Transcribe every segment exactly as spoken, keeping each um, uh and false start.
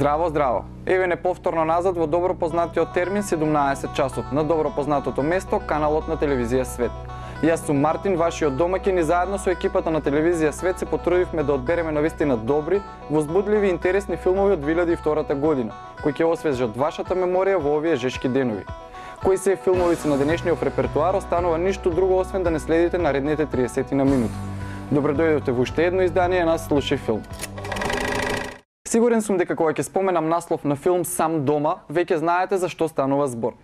Здраво, здраво! Еве не повторно назад во добро познатиот термин седумнаесет часот, на добро познатото место, каналот на телевизија Свет. Јас сум Мартин, вашиот домаќин, и заедно со екипата на телевизија Свет се потрудивме да одбереме навистина добри, возбудливи и интересни филмови од две илјади и втора година, кои ќе освежат вашата меморија во овие жешки денови. Кои се филмови се на денешниот репертоар, останува ништо друго освен да не следите наредните триесет на минути. Добро дојдовте во уште едно издание на Слушај филм. Сигурен сум дека кога ќе споменам наслов на филм Сам дома, веќе знаете за што станува збор.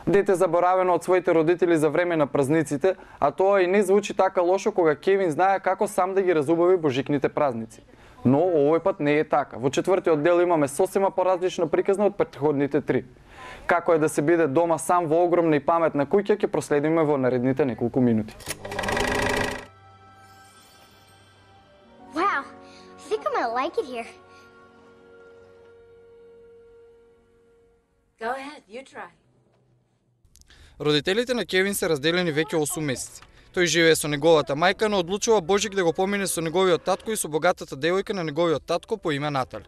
Дете заборавено од своите родители за време на празниците, а тоа и не звучи така лошо кога Кевин знае како сам да ги разубави божикните празници. Но овој пат не е така. Во четвртиот дел имаме сосема поразлична приказна од претходните три. Како е да се биде дома сам во огромна и паметна куќа ќе проследиме во наредните неколку минути. Wow, I think I might like it here. Go ahead, you try. Родителите на Кевин се разделени веќе осум месеци. Тој живее со неговата мајка, но одлучува Божик да го помине со неговиот татко и со богатата девојка на неговиот татко по име Натали.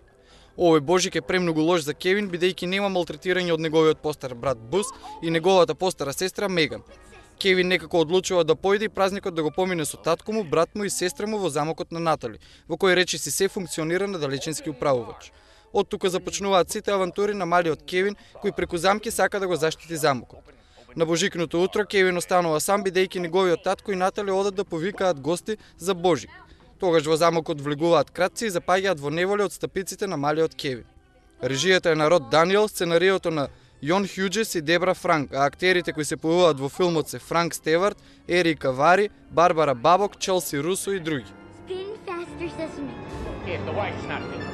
Овој Божик е премногу лош за Кевин, бидејќи нема малтретирање од неговиот постар брат Бус и неговата постара сестра Меган. Кевин некако одлучува да појде и празникот да го помине со татко му, брат му и сестра му во замокот на Натали, во кој речиси се функционира на далечински управувач. Од тука започнуваат сите авантури на малиот Кевин, кој преку замки сака да го заштити замокот. На Божикното утро Кевин останува сам, бидејќи неговиот татко и Натали одат да повикаат гости за Божик. Тогаш во замокот влегуваат кратци и запаѓаат во неволја од стапиците на малиот Кевин. Режијата е на Род Даниел, сценариото на Јон Хјуџес и Дебра Франк, а актерите кои се појавуваат во филмот се Франк Стеварт, Ерика Вари, Барбара Бабок, Челси Русо и други. Spin faster, Sesame. If the wife's not fit.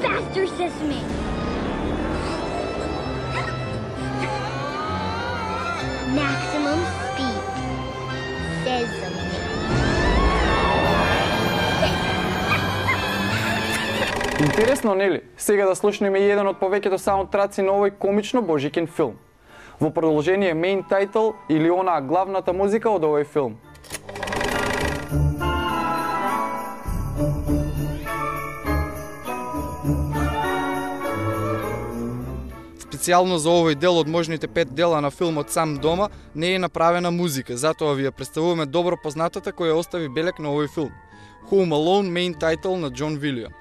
Faster, Sesame. Maximum speed. Sesame. Интересно, нели? Сега да слушнеме еден од повеќето саундтраци на овој комично божикин филм. Во продолжение main title или онаа главната музика од овој филм. Специјално за овој дел од можните пет дела на филмот Сам дома не е направена музика, затоа ви ја представуваме добро познатата која остави белег на овој филм. Home Alone, main title на Џон Вилијамс.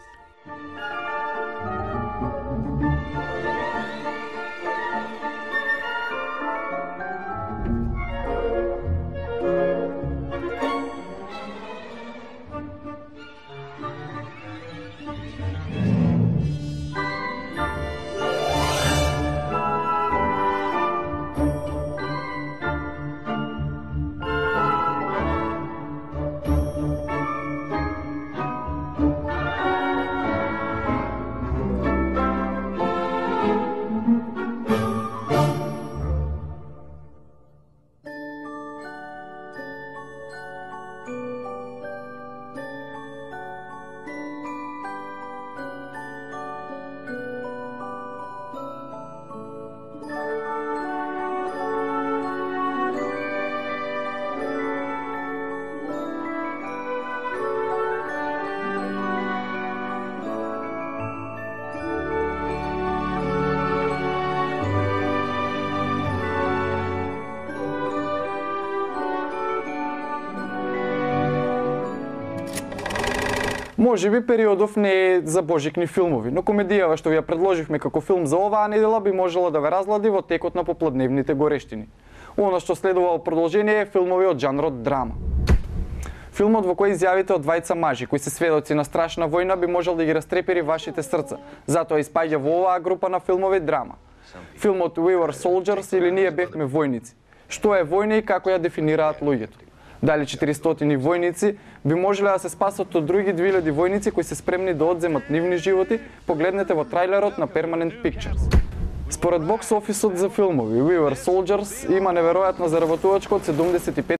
Може би периодов не е за божикни филмови, но комедијава што ви ја предложивме како филм за оваа недела би можела да ве разлади во текот на попладневните горештини. Оно што следува во продолжение е филмови од жанрот драма. Филмот во кој изјавите од двајца мажи кои се сведоци на страшна војна би можел да ги растрепери вашите срца, затоа испаѓа во оваа група на филмови драма. Филмот We Were Soldiers или Ние бевме војници. Што е војна и како ја дефинираат луѓето? Дали четиристотини војници би можеле да се спасат од други две илјади војници кои се спремни да одземат нивни животи, погледнете во трајлерот на Permanent Pictures. Според бокс офисот за филмови We Were Soldiers има неверојатна заработувачка од седумдесет и пет